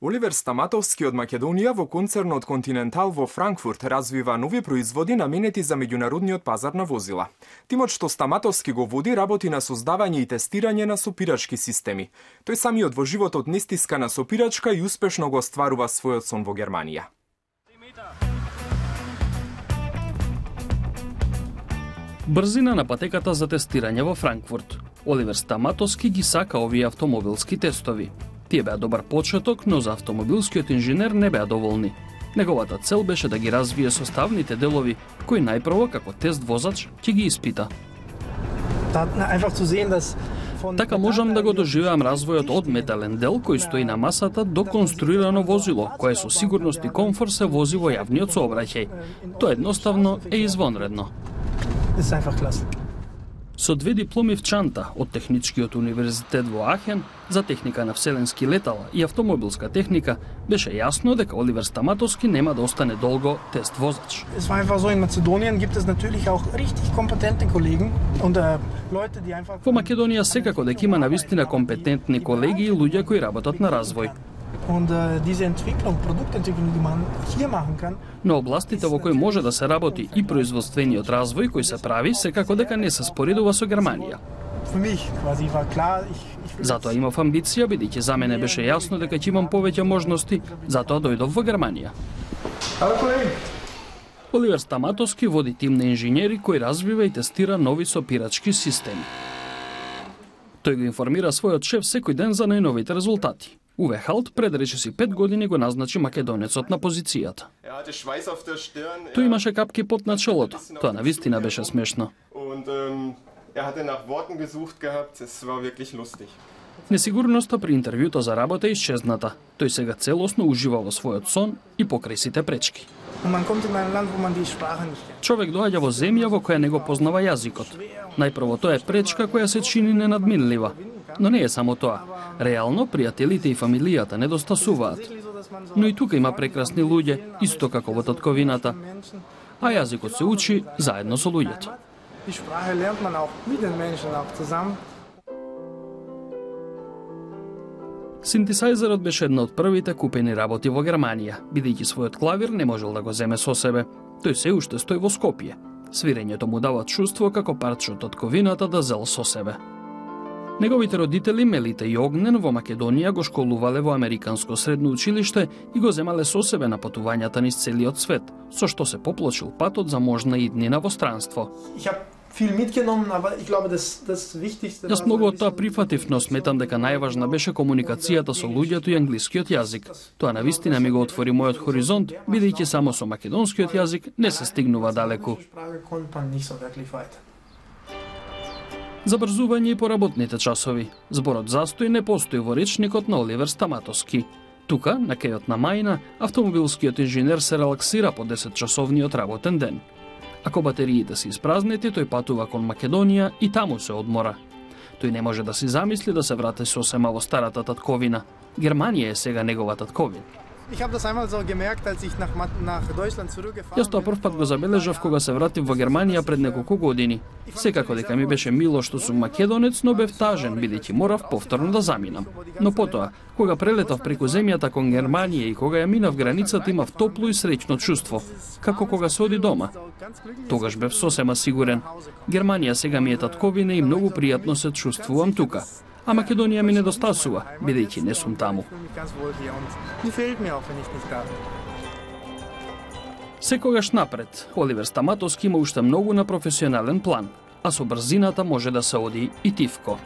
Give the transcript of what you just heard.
Оливер Стаматовски од Македонија во концернот Континентал во Франкфурт развива нови производи наменети за меѓународниот пазар на возила. Тимот што Стаматовски го води работи на создавање и тестирање на сопирачки системи. Тој самиот во животот не стиска на сопирачка и успешно го остварува својот сон во Германија. Брзина на патеката за тестирање во Франкфурт. Оливер Стаматовски ги сака овие автомобилски тестови. Тие беа добар почеток, но за автомобилскиот инженер не беа доволни. Неговата цел беше да ги развие составните делови, кои најпрво како тест возач ќе ги испита. Така можам да го доживеам развојот од метален дел кој стои на масата до конструирано возило, кое со сигурност и комфорт се вози во јавниот сообраќај. Тоа едноставно е извонредно. Со 2 дипломи в чанта од Техничкиот универзитет во Ахен за техника на вселенски летала и автомобилска техника, беше јасно дека Оливер Стаматовски нема да остане долго тест возач. Во Македонија секако дека има навистина компетентни колеги и луѓе кои работат на развој. Но областите во кои може да се работи и производствениот развој кој се прави, секако дека не се споредува со Германија. Затоа имав амбиција, бидејќи за мене беше јасно дека ќе имам повеќе можности, затоа дојдов во Германија. Оливер Стаматовски води тим на инженери кои развива и тестира нови сопирачки системи. Тој го информира својот шеф секој ден за најновите резултати. Уве Халт пред речиси 5 години го назначи македонецот на позицијата. Тој имаше капки пот на челото. Тоа навистина беше смешно. Несигурноста при интервјуто за работа исчезната. Тој сега целосно ужива во својот сон и покрај сите пречки. Човек доаѓа во земја во која не го познава јазикот. Најпрво тоа е пречка која се чини ненадминлива. Но не е само тоа. Реално, пријателите и фамилијата недостасуваат. Но и тука има прекрасни луѓе, исто како во татковината. А јазикот се учи заедно со луѓето. Синтесајзерот беше една од првите купени работи во Германија, бидејќи својот клавир не можел да го земе со себе. Тој се уште стои во Скопје. Свирењето му дава чувство како парче од татковината да зел со себе. Неговите родители Мелита и Огнен во Македонија го школувале во Американско средно училиште и го земале со себе на патувањата низ целиот свет, со што се поплочил патот за можна иднина во странство. Јас многу од тоа прифатив, но сметам дека најважна беше комуникацијата со луѓето и англискиот јазик. Тоа навистина ми го отвори мојот хоризонт, бидејќи само со македонскиот јазик не се стигнува далеку. Забрзување и поработните часови. Зборот застој не постои во речникот на Оливер Стаматовски. Тука, на кејот на Мајна, автомобилскиот инженер се релаксира по 10-часовниот работен ден. Ако батериите се испразнети, тој патува кон Македонија и таму се одмора. Тој не може да си замисли да се врати сосема во старата татковина. Германија е сега негова татковина. Јас тоа прв пат го забележав кога се вратив во Германија пред неколку години. Секако дека ми беше мило што сум македонец, но бев тажен, бидејќи морав повторно да заминам. Но потоа, кога прелетав преку земјата кон Германија и кога ја минав границата, имав топло и среќно чувство, како кога се оди дома. Тогаш бев сосема сигурен. Германија сега ми е татковина и многу пријатно се чувствувам тука. А Македонија ми недостасува, бидејќи не сум таму. Секогаш напред, Оливер Стаматовски има уште многу на професионален план, а со брзината може да се оди и тивко.